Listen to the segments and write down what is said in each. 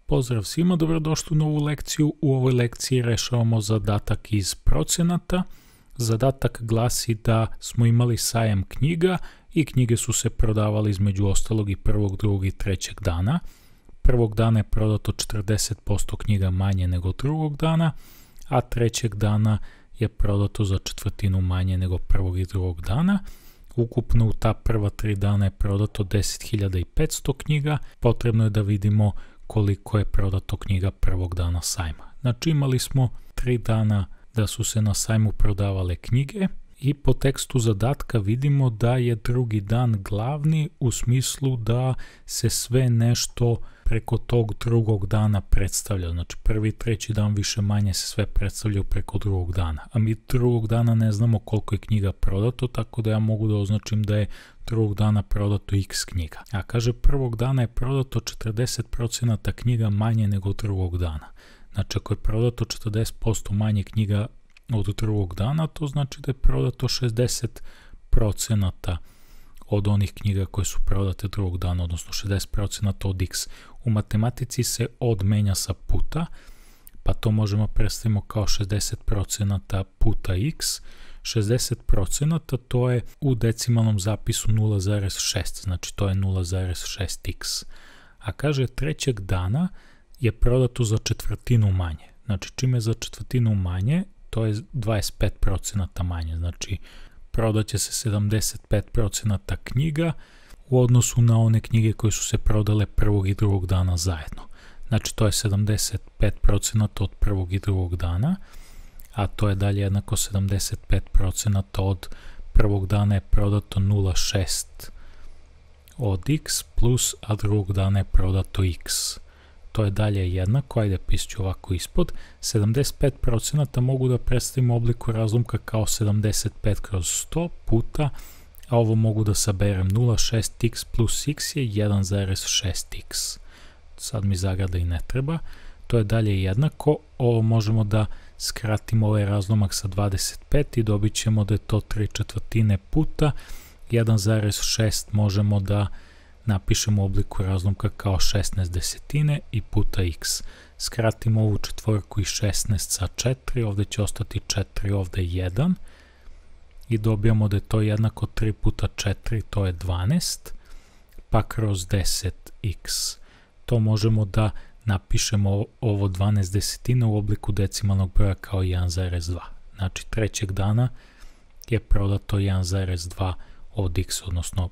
Pozdrav svima, dobrodošli u novu lekciju. U ovoj lekciji rešavamo zadatak iz procenata. Zadatak glasi da smo imali sajam knjiga i knjige su se prodavale između ostalog i prvog, drugog i trećeg dana. Prvog dana je prodato 40% knjiga manje nego drugog dana, a trećeg dana je prodato za četvrtinu manje nego prvog i drugog dana. Ukupno u ta prva 3 dana je prodato 10.500 knjiga. Potrebno je da vidimo koliko je prodato knjiga prvog dana sajma. Znači imali smo 3 dana da su se na sajmu prodavale knjige i po tekstu zadatka vidimo da je drugi dan glavni u smislu da se sve nešto preko tog drugog dana predstavlja. Znači prvi i treći dan više manje se sve predstavljaju preko drugog dana. A mi drugog dana ne znamo koliko je knjiga prodato, tako da ja mogu da označim da je drugog dana prodato x knjiga. A kaže prvog dana je prodato 40% knjiga manje nego drugog dana. Znači ako je prodato 40% manje knjiga od drugog dana, to znači da je prodato 60% od onih knjiga koje su prodate drugog dana, odnosno 60% od x. U matematici se od menja sa puta, pa to možemo predstaviti kao 60% puta x. 60% to je u decimalnom zapisu 0,6, znači to je 0,6x. A kaže trećeg dana je prodato za četvrtinu manje. Znači čim je za četvrtinu manje, to je 25% manje. Znači prodaće se 75% knjiga u odnosu na one knjige koje su se prodale prvog i drugog dana zajedno. Znači to je 75% od prvog i drugog dana, a to je dalje jednako 75% od prvog dana je prodato 0,6 od x plus, a drugog dana je prodato x. To je dalje jednako, ajde pišću ovako ispod, 75% mogu da predstavim u obliku razlomka kao 75 kroz 100 puta, a ovo mogu da saberem 0,6x plus x je 1,6x. Sad mi zagrada i ne treba. To je dalje jednako, ovo možemo da skratimo ovaj razlomak sa 25 i dobit ćemo da je to 3/4 puta, 1,6 možemo da napišemo u obliku razlomka kao 16 i puta x. Skratimo ovu četvorku i 16 sa 4, ovdje će ostati 4, ovdje 1 i dobijamo da je to jednako 3 puta 4, to je 12, pa kroz 10x. To možemo da napišemo ovo 12 desetina u obliku decimalnog broja kao 1,2. Znači trećeg dana je prodato 1,2 od x, odnosno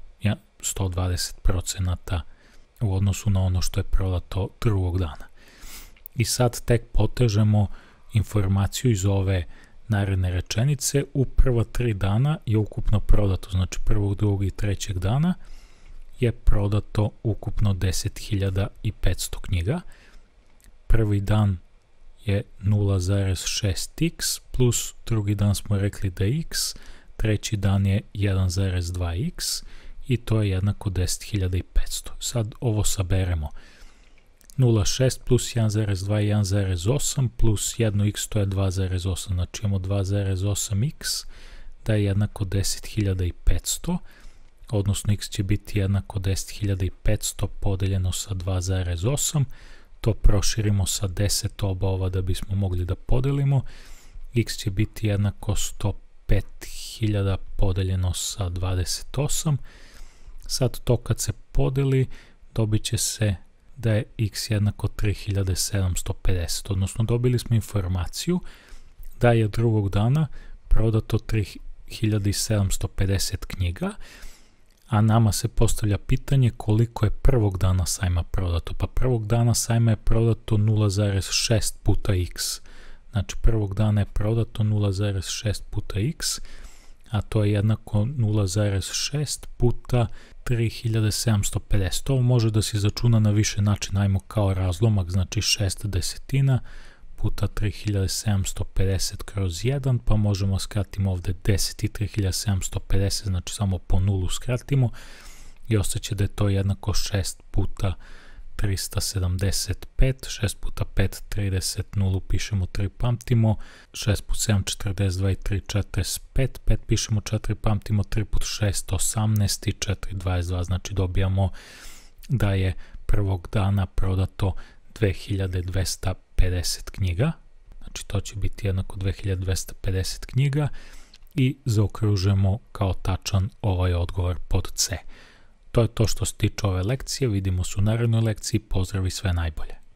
120% u odnosu na ono što je prodato drugog dana. I sad tek potežemo informaciju iz ove naredne rečenice. U prva 3 dana je ukupno prodato, znači prvog, drugog i trećeg dana je prodato ukupno 10.500 knjiga. Prvi dan je 0,6x plus drugi dan smo rekli da je x, treći dan je 1,2x i to je jednako 10.500. Sad ovo saberemo. 0,6 plus 1,2 je 1,8 plus 1x to je 2,8, znači imamo 2,8x da je jednako 10.500, odnosno x će biti jednako 10.500 podeljeno sa 2,8, to proširimo sa 10 oba ova da bismo mogli da podelimo, x će biti jednako 105.000 podeljeno sa 28, sad to kad se podeli dobit će se da je x jednako 3.750, odnosno dobili smo informaciju da je drugog dana prodato 3.750 knjiga, a nama se postavlja pitanje koliko je prvog dana sajma prodato. Pa prvog dana sajma je prodato 0,6 puta x. Znači prvog dana je prodato 0,6 puta x, a to je jednako 0,6 puta 3.750. Ovo može da se izračuna na više načina, ajmo kao razlomak, znači 6 desetina puta 3.750 kroz 1, pa možemo skratimo ovdje 10 i 3.750, znači samo po nulu skratimo i ostaće da je to jednako 6 puta 375, 6 puta 5, 30, nulu pišemo 3, pamtimo, 6 put 7, 42 i 3, 45, 5 pišemo 4, pamtimo, 3 put 6, 18 i 4, 22, znači dobijamo da je prvog dana prodato 2250 knjiga, znači to će biti jednako 2250 knjiga i zaokružujemo kao tačan ovaj odgovor pod C. To je to što se tiče ove lekcije, vidimo se u narednoj lekciji, pozdrav i sve najbolje.